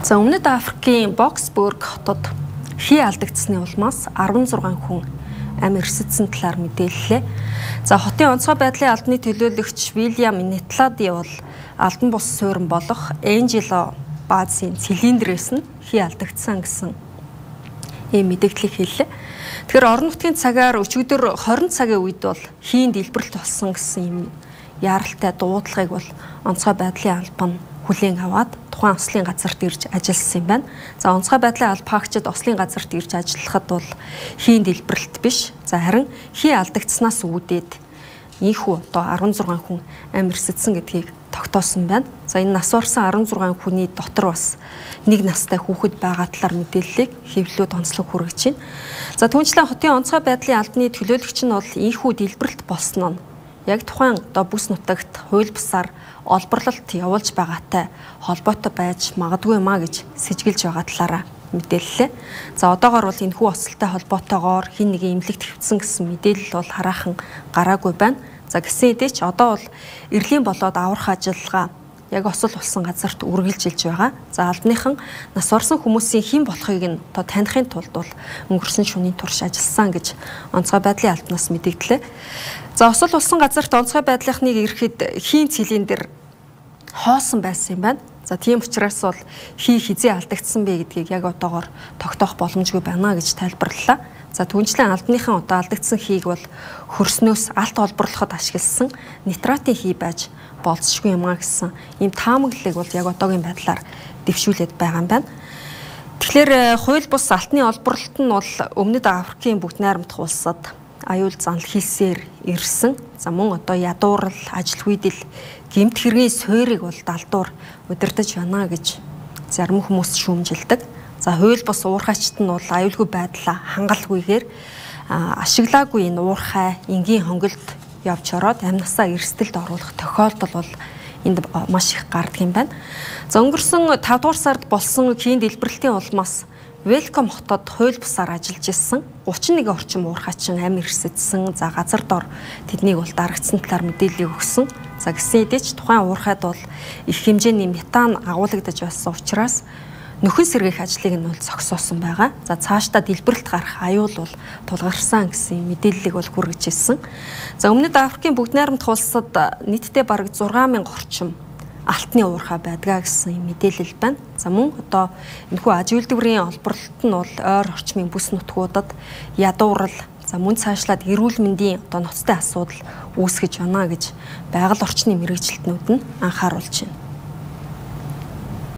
За өмнөд Африкийн Боксбург хотод хий алдагдсны улмаас 16 хүн амь эрсэдсэн талаар мэдээллээ. За хотын онцгой байдлын албаны төлөөлөгч Вильям Нетлади бол албан бус суурин болох Энжело баазын цилиндрээс нь хий алдагдсан гэсэн ийм мэдээллийг хэллээ. Тэгэхээр орон нутгийн цагаар өчигдөр 20 цагийн үед бол хийн дэлбэрэлт болсон гэсэн ийм яаралтай дуудлагыг бол онцгой байдлын албан хүлээн аваад тухайн ослын газарт ирж ажилласан юм байна. За онцгой байдлын албаагчид ослын газарт ирж ажиллахад бол хийн дэлбэрэлт биш. За харин хий алдагдсанаас үүдээд ийхүү одоо 16 хүн амь эрсэдсэн гэдгийг тогтоосон байна. За энэ нас орсон 16 хүний дотор бас нэг настай хүүхэд байгаа талаар мэдээллийг хэвлэлүүд онцлог хүргэж байна. За түүнчлэн хотын онцгой байдлын албаны төлөөлөгч нь бол ийхүү дэлбэрэлт болсон нь яг тухайн одоо бүс нутагт хууль бусаар олборлолт явуулж байгаатай холбоотой байж магадгүй маа гэж сэжгэлж байгаа талаараа мэдээллээ. За одоогоор бол энэхүү осолтой холбоотойгоор хин нэгэн эмнэлэгт хэвтсэн гэсэн мэдээлэл бол хараахан гараагүй байна. За гэсэн хэдий ч одоо бол эрлийн болоод аврах ажиллагаа яг осол болсон газарт үргэлжилж байгаа. За албаныхан нас орсон хүмүүсийн хэн болохыг нь одоо таних тулд бол өнгөрсөн шөнийн турш ажилласан гэж онцгой байдлын албанаас мэдэгдлээ. За осол болсон газарт онцгой байдлынхныг ирэхэд хийн цилиндр хоосон байсан юм байна. За тийм учраас бол хий хизээ алдагдсан бэ гэдгийг яг одоогоор тогтоох боломжгүй байна гэж тайлбарлалаа. За түүнчлэн албаныхан одоо алдагдсан хийг бол хөрснөөс алт олборлоход ашигласан нитратын хий байж болцшгүй юм а гэсэн ийм таамаглалыг бол яг одоогийн байдлаар дэвшүүлээд байгаа юм байна. Тэгэхээр хууль бус алтны олборлолт нь бол өмнөд Африкийн бүгд найрамдах улсад аюул занал хийсээр ирсэн. За мөн одоо ядуурл, ажил хүйдэл, гэмт хэргийн суурийг бол далдуур удирдах байна гэж зарим хүмүүс шүүмжилдэг. За хууль бус уурхайчт нь бол аюулгүй байдлаа хангалтгүйгээр ашиглаагүй энэ уурхай энгийн хонголд явж ороод амнасаа эрсдэлд оруулах тохиолдол бол энд маш их гардаг юм байна. За өнгөрсөн 5 дугаар сард болсон хийн дэлбэрэлтийн улмаас Велком хотод хууль бусаар ажиллаж ирсэн 31 орчим уурхайчин амь эрсэдсэн. За газар дор тэднийг бол дарагдсан талаар мэдээлэл өгсөн. За гэсэн хэдий ч тухайн уурхайд бол их хэмжээний метан агуулгадж байсан учраас нөхөн сэргийх ажлыг нь бол зогсоосон байгаа. За цаашдаа дэлбэрэлт гарах аюул бол тулгарсан гэсэн мэдээллийг бол хүргэж ирсэн. За өмнөд Африкийн бүгд найрамдах улсад нийтдээ бараг 6000 орчим алтны уурхай байдгаа гэсэн мэдээлэл байна. За мөн одоо энэхүү аж үйлдвэрийн олборлолт нь бол ойр орчмын бүс нутгуудад ядуурл, за мөн цаашлаад эрүүл мэндийн одоо ноцтой асуудал үүсгэж байна гэж байгаль орчны мэргэжилтнүүд нь анхааруулж байна.